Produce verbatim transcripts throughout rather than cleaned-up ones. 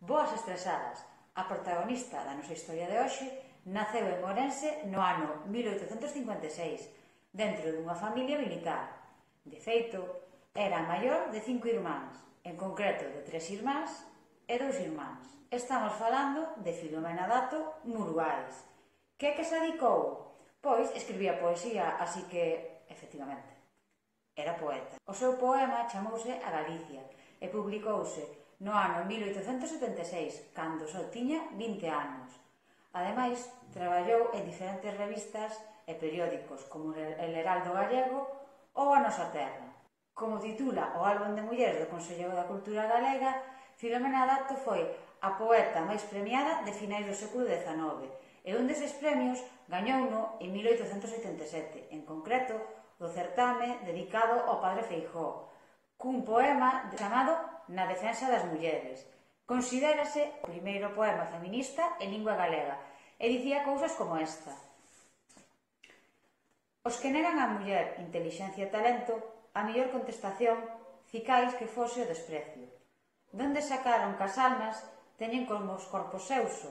Boas estresadas. A protagonista da nosa historia de hoxe naceu en Ourense no ano mil oitocentos cincuenta e seis, dentro dunha familia militar. De feito, era a maior de cinco irmáns, en concreto de tres irmáns e dous irmáns. Estamos falando de Filomena Dato Muruais. Que que se dedicou? Pois escribía poesía, así que, efectivamente, era poeta. O seu poema chamouse A Galicia e publicouse no ano mil oitocentos setenta e seis, cando só tiña vinte anos. Ademais, traballou en diferentes revistas e periódicos como El Heraldo Gallego ou A Nosa Terra. Como titula o álbum de mulleres do Consello da Cultura Galega, Filomena Dato foi a poeta máis premiada de finais do século dezanove e un deses premios gañouno en mil oitocentos oitenta e sete, en concreto do certame dedicado ao padre Feijóo, cun poema chamado Na defensa das mulleres. Considérase o primeiro poema feminista en lingua galega e dicía cousas como esta: os que negan á muller intelixencia e talento, a mellor contestación cicais que fose o desprecio. Donde sacaron que as almas teñen como os corpos seuso,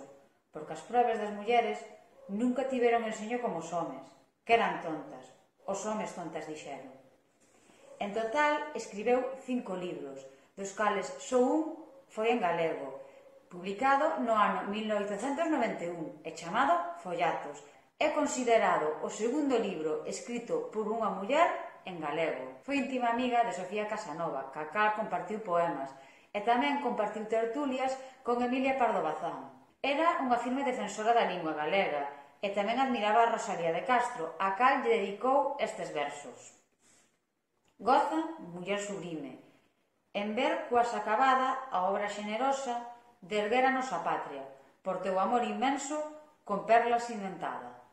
porque as probas das mulleres nunca tiveron enseño como os homes, que eran tontas. Os homes tontas dixeron. En total, escribeu cinco libros, dos cales só un foi en galego, publicado no ano mil oitocentos noventa e un e chamado Follatos. É considerado o segundo libro escrito por unha muller en galego. Foi íntima amiga de Sofía Casanova, ca cal compartiu poemas, e tamén compartiu tertulias con Emilia Pardo Bazán. Era unha firme defensora da lingua galega e tamén admiraba a Rosalía de Castro, a cal lle dedicou estes versos. Goza, muller sublime, en ver coas acabada a obra xenerosa de erguer a nosa patria, por teu amor inmenso con perlas inventada.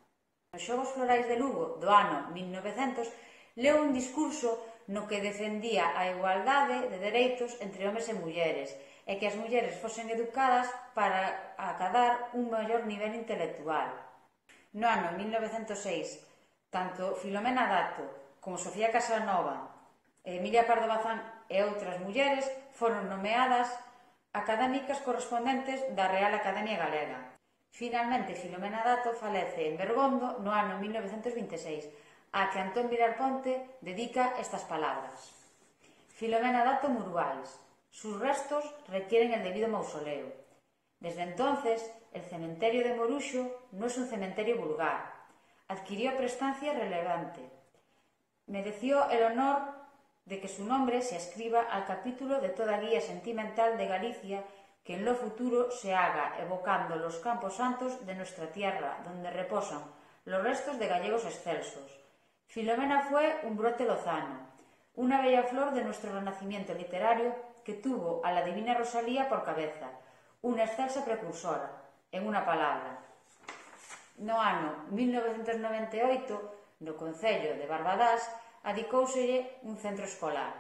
Nos Xogos Florais de Lugo do ano mil novecentos leu un discurso no que defendía a igualdade de dereitos entre homes e mulleres e que as mulleres fosen educadas para acadar un maior nivel intelectual. No ano mil novecentos seis, tanto Filomena Dato como Sofía Casanova, Emilia Pardo Bazán e outras mulleres foron nomeadas académicas correspondentes da Real Academia Galega. Finalmente, Filomena Dato falece en Bergondo no ano mil novecentos vinte e seis, a que Antón Vilar Ponte dedica estas palabras. Filomena Dato Muruais. Sus restos requieren el debido mausoleo. Desde entonces, el cementerio de Moruxo no es un cementerio vulgar. Adquirió prestancia relevante. Mereció el honor de que su nombre se ascriba al capítulo de toda guía sentimental de Galicia que en lo futuro se haga evocando los campos santos de nuestra tierra, donde reposan los restos de gallegos excelsos. Filomena fue un brote lozano, una bella flor de nuestro renacimiento literario que tuvo a la divina Rosalía por cabeza, una excelsa precursora, en una palabra. No ano mil novecentos noventa e oito, no concello de Barbadás, adicóuselle un centro escolar.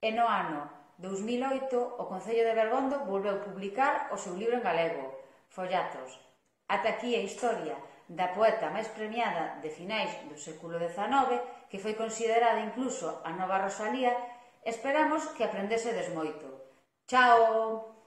E no ano dous mil oito, o Concello de Bergondo volveu publicar o seu libro en galego, Follatos. Ata aquí a historia da poeta máis premiada de finais do século dezanove, que foi considerada incluso a nova Rosalía. Esperamos que aprendesedes moito. Chao!